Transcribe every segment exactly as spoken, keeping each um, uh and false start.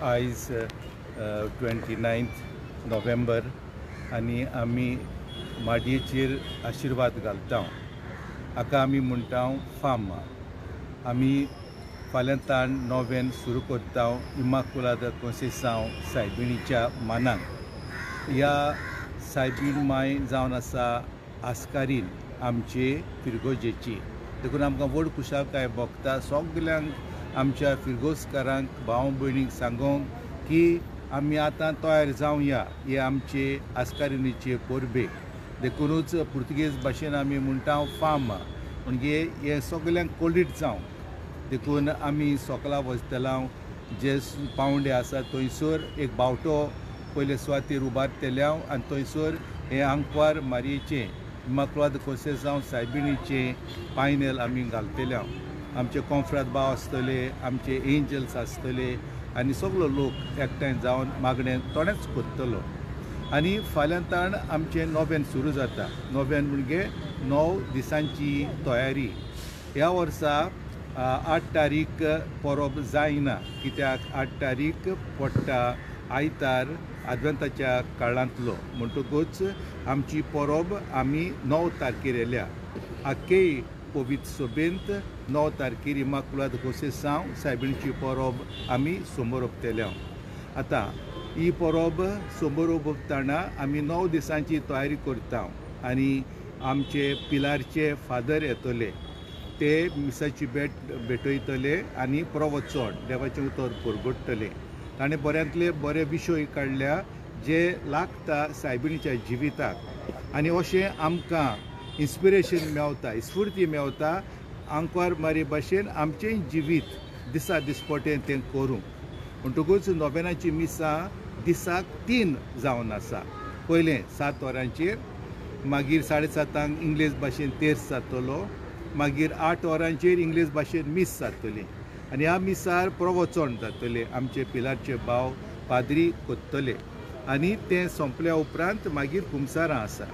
आयज twenty ninth नोव्हेंबर आनी आमी माडयेचेर आशिर्वाद घालता. हाका आमी म्हणटा फाम. आमी फाल्यां ताण नोव्हेन सुरू करता इमाकुलाद कोंसेसांव सायबिणीच्या मानाक. ह्या सायबीण माय जावन आसा आस्कारीन आमचे फिरगोजेची, देखून आमकां व्हड खुशालकाय भोगता सगल्यांक आमच्या फिरगोजकारांक भाव भयणींक सांगोंक की आमी आतां तयार जावया हे आमचे आस्कारिणीचे परबेक. देखुनूच पुर्तुगेज भाशेन आमी म्हणटा फाम, म्हणजे हें सगल्यांक कोलीट जावं. देखून आमी सोकला वचतला जे पावंडे आसा थंयसर एक बावटो पयले सुवातेर उबारतले आनी थंयसर हें आंकवार मारयेचें इमाकुलाद कोंसेसांव सायबिणीचें पायनेल आमी घालतले. आमचे कोंफ्राद भाव आसतले, आमचे एंजल्स आसतले आनी सगलो लोक एकठांय जावन मागणें थोडेंच करतलो. आनी फाल्यां ताण आमचें नोव्हेन सुरू जाता. नोव्हेन म्हणजे णव दिसांची तयारी. ह्या वर्सा आठ तारीख परब जायना, कित्याक आठ तारीख पडटा आयतार आदवेंताच्या काळांतलो, म्हणटकूच आमची परब आमी णव तारखेर येल्या. आख्खेय पवित्र सभेंत णव तारखेर इमाकुलाद कोंसेसांव सायबिणीची परब आमी समोर उबतले. आतां ही परब समोर उबतना आमी णव दिसांची तयारी करता आनी आमचे पिलारचे फादर येतले, ते मिसाची भेट भेटयतले आनी प्रवचन देवाचें उतर परगटतले. ताणें बऱ्यांतले बरे विशय काडल्या जे लागता सायबिणीच्या जिविताक आनी अशें आमकां इन्स्पिरेशन मेवता, स्फूर्ती मेवता आंकवार मारी भाशेन आमचेंय जिवीत दिसा दिसपटें तें करूंक. म्हणटकूच नोव्हेनाची मिसां दिसाक तीन जावन आसा. पयलें सात वरांचेर, मागीर साडे सातांक इंग्लीश भाशेन तेर्स जातलो, मागीर आठ वरांचेर इंग्लीश भाशेन मीस जातली आनी ह्या मिसार प्रवचन जातलें, आमचे पिलारचे भाव पाद्री कोत्तले आनी तें सोंपल्या उपरांत मागीर कुमसारां आसा.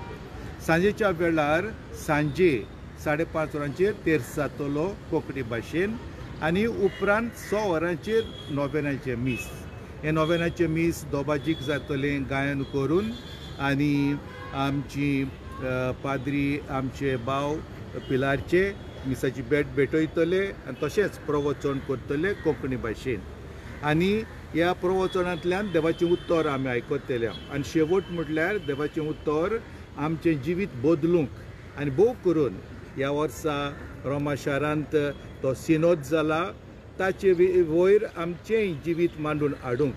सांजेच्या वेळार सांजे साडे पांच वरांचेर तेर्स जातलो कोंकणी भाशेन आनी उपरांत स वरांचेर नोव्हेनाचें मीस. हें नोव्हेनाचें मीस दोबाजीक जातलें गायन करून आनी आमची पाद्री आमचे भाव पिलारचे मिसाची भेट भेटयतले आनी तशेंच प्रवचन करतले कोंकणी भाशेन आनी ह्या प्रवचनांतल्यान देवाचें उत्तर आमी आयकतले. आनी शेवट म्हटल्यार देवाचें उत्तर आमचें जिवीत बदलूंक आनी भोव करून ह्या वर्सा रोमा शारांत तो सिनोद जाला ताचे वयर आमचेंय जिवीत मांडून हाडूंक,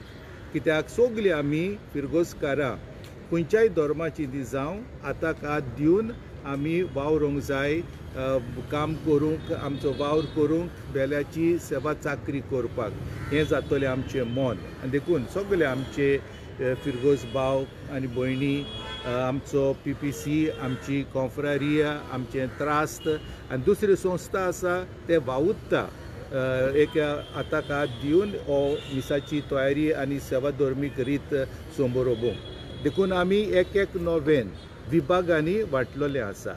कित्याक सगलीं आमी फिरगोजकारां खंयच्याय धर्माची ती जावं आतां हात दिवन आमी वावरूंक जाय, काम करूंक, आमचो वावर करूंक, बेल्याची सेवा चाकरी करपाक हें जातलें आमचें मन. आनी देखून सगळे आमचे फिरगोज भाव आनी भयणी, आमचो पी पी सी, आमची कॉन्फ्रारिया, आमचें त्रास्त आनी दुसरी संस्था आसा ते वावुरता एक हाताक हात दिवन हो मिसाची तयारी आनी सेवा धर्मीक रीत समोर उबोवंक. देखून आमी एक एक नोव्हेन विभागांनी वांटलेलें आसा.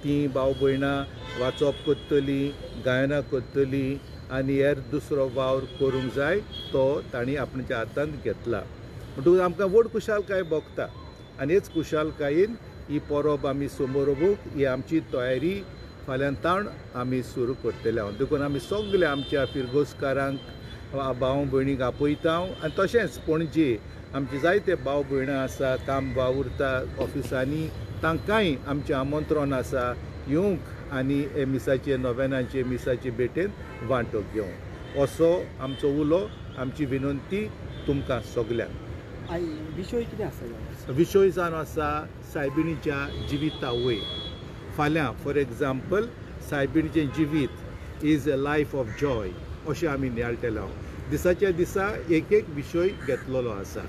तीं भाव भयणां वाचप करतलीं, गायनां करतलीं आनी हेर दुसरो वावर करूंक जाय तो तांणी आपणाच्या हातांत घेतला. म्हणटकूच आमकां व्हड खुशालकाय भोगता आनी हेच खुशालकायेन ही परब आमी समोर उबोवंक ही आमची तयारी फाल्यां ताण आमी सुरू करतले. देखून आमी सगळे आमच्या फिरगोजकारांक भाव भयणींक आपयता आनी तशेंच पणजे आमचे जायते भाव भयणां आसा, काम वावुरता ऑफिसांनी, तांकांय आमचें आमंत्रण आसा येवंक आनी हे मिसाचे नोव्हेनाचे मिसाचे भेटेन वांटो घेवंक. असो आमचो उलो, आमची विनंती तुमकां सगल्यांक. विशय कितें आसा? विशय जावन आसा सायबिणीच्या जिविता वयर. फाल्यां फॉर एग्जाम्पल सायबिणीचें जिवीत is a life of joy अशें आमी नियाळटले. दिसाच्या दिसा एक एक विशय घेतलेलो आसा.